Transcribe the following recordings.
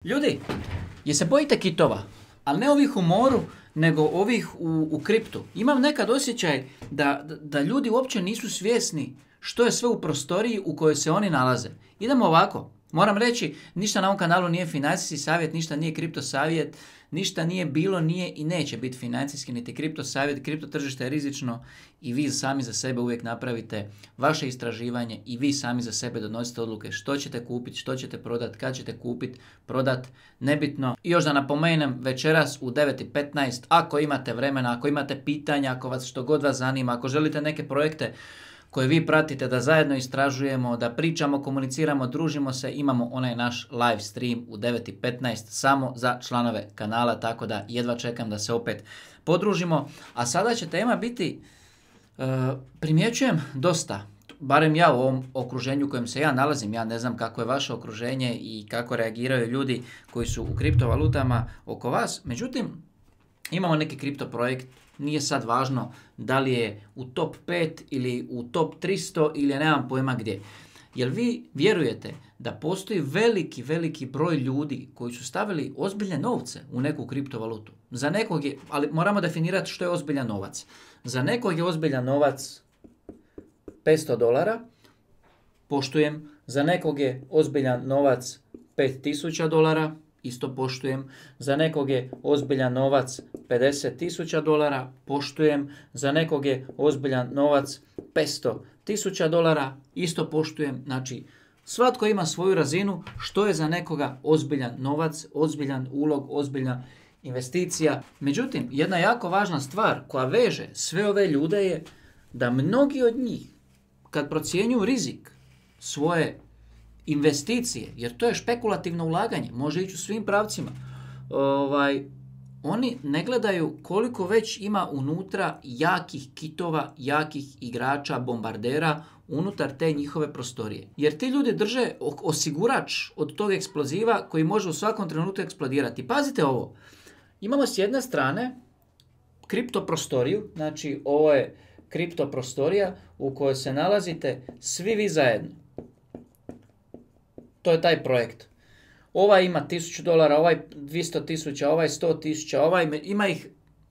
Ljudi, je se bojite kitova, ali ne ovih u moru, nego ovih u kriptu. Imam nekad osjećaj da ljudi uopće nisu svjesni što je sve u prostoriji u kojoj se oni nalaze. Idemo ovako. Moram reći, ništa na ovom kanalu nije financijski savjet, ništa nije kripto savjet, ništa nije bilo, nije i neće biti financijski niti kripto savjet. Kripto tržište je rizično i vi sami za sebe uvijek napravite vaše istraživanje i vi sami za sebe donosite odluke što ćete kupiti, što ćete prodati, kad ćete kupiti, prodati, nebitno. I još da napomenem, večeras u 9:15, ako imate vremena, ako imate pitanja, ako vas što god vas zanima, ako želite neke projekte koje vi pratite, da zajedno istražujemo, da pričamo, komuniciramo, družimo se, imamo onaj naš live stream u 9:15 samo za članove kanala, tako da jedva čekam da se opet podružimo. A sada će tema biti, primjećujem dosta, barem ja u ovom okruženju u kojem se ja nalazim, ja ne znam kako je vaše okruženje i kako reagiraju ljudi koji su u kriptovalutama oko vas, međutim, imamo neki kripto projekt. Nije sad važno da li je u top 5 ili u top 300 ili nemam pojma gdje. Jer vi vjerujete da postoji veliki broj ljudi koji su stavili ozbiljne novce u neku kriptovalutu. Za nekog je, ali moramo definirati što je ozbiljan novac. Za nekog je ozbiljan novac $500, poštujem. Za nekog je ozbiljan novac $5.000, isto poštujem. Za nekog je ozbiljan novac $50.000, poštujem. Za nekog je ozbiljan novac $500.000, isto poštujem. Znači, svatko ima svoju razinu što je za nekoga ozbiljan novac, ozbiljan ulog, ozbiljna investicija. Međutim, jedna jako važna stvar koja veže sve ove ljude je da mnogi od njih, kad procjenjuju rizik svoje investicije, jer to je špekulativno ulaganje, može ići u svim pravcima, oni ne gledaju koliko već ima unutra jakih kitova, jakih igrača, bombardera unutar te njihove prostorije. Jer ti ljudi drže osigurač od tog eksploziva koji može u svakom trenutku eksplodirati. Pazite ovo, imamo s jedne strane kripto prostoriju, znači ovo je kripto prostorija u kojoj se nalazite svi vi zajedno. To je taj projekt. Ovaj ima $1.000, ovaj 200.000, ovaj 100.000, ovaj ima ih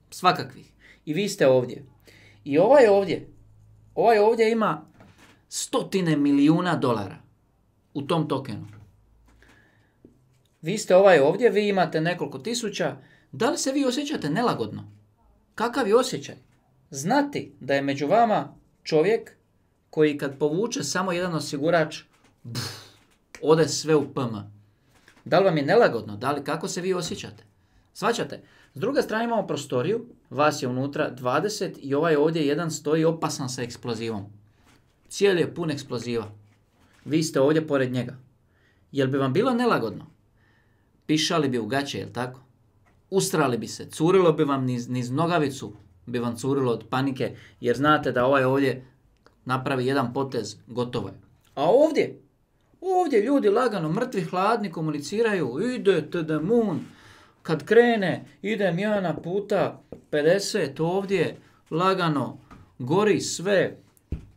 svakakvih. I vi ste ovdje. I ovaj ovdje ima $100 milijuna u tom tokenu. Vi ste ovaj ovdje, vi imate nekoliko tisuća. Da li se vi osjećate nelagodno? Kakav je osjećaj? Znati da je među vama čovjek koji kad povuče samo jedan osigurač, ode sve u PM. Da li vam je nelagodno? Da li, kako se vi osjećate? Shvaćate? S druge strane imamo prostoriju, vas je unutra 20 i ovaj ovdje jedan stoji opasan sa eksplozivom. Cijeli je pun eksploziva. Vi ste ovdje pored njega. Jel bi vam bilo nelagodno? Pišali bi u gaće, jel tako? Ustrali bi se, curilo bi vam niz nogavicu, bi vam curilo od panike, jer znate da ovaj ovdje napravi jedan potez, gotovo je. A ovdje ljudi lagano, mrtvi, hladni, komuniciraju, ide to the moon, kad krene, idem ja na puta 50 ovdje, lagano, gori sve,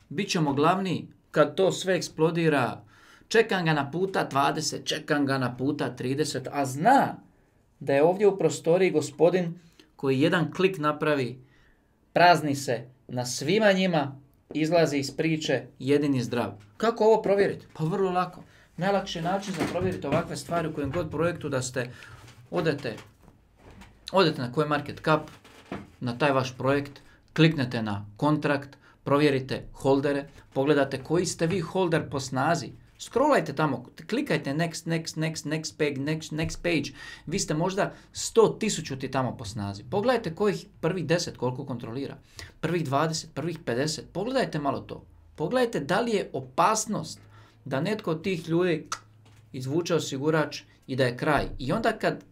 bit ćemo glavni, kad to sve eksplodira, čekam ga na puta 20, čekam ga na puta 30, a zna da je ovdje u prostoriji gospodin koji jedan klik napravi, prazni se na svima njima, izlazi iz priče jedini zdrav. Kako ovo provjeriti? Pa vrlo lako. Najlakši način za provjeriti ovakve stvari u kojem god projektu da ste odete na CoinMarketCap, na taj vaš projekt, kliknete na kontrakt, provjerite holdere, pogledate koji ste vi holder po snazi. Scrollajte tamo, klikajte next page. Vi ste možda 100.000 tamo po snazi. Pogledajte kojih prvih 10 koliko kontrolira. Prvih 20, prvih 50. Pogledajte malo to. Pogledajte da li je opasnost da netko od tih ljudi izvuče osigurač i da je kraj. I onda kad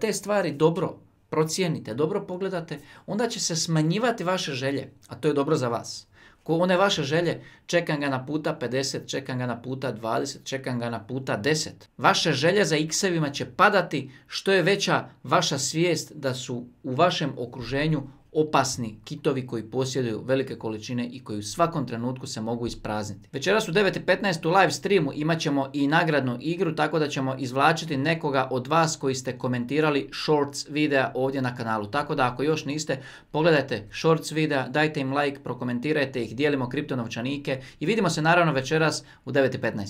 te stvari dobro procijenite, dobro pogledate, onda će se smanjivati vaše želje, a to je dobro za vas. One vaše želje, čekam ga na puta 50, čekam ga na puta 20, čekam ga na puta 10. Vaše želje za x-evima će padati što je veća vaša svijest da su u vašem okruženju opasni kitovi koji posjeduju velike količine i koji u svakom trenutku se mogu isprazniti. Večeras u 9:15 u live streamu imat ćemo i nagradnu igru, tako da ćemo izvlačiti nekoga od vas koji ste komentirali shorts videa ovdje na kanalu. Tako da ako još niste, pogledajte shorts videa, dajte im like, prokomentirajte ih, dijelimo kriptonovčanike i vidimo se naravno večeras u 9:15.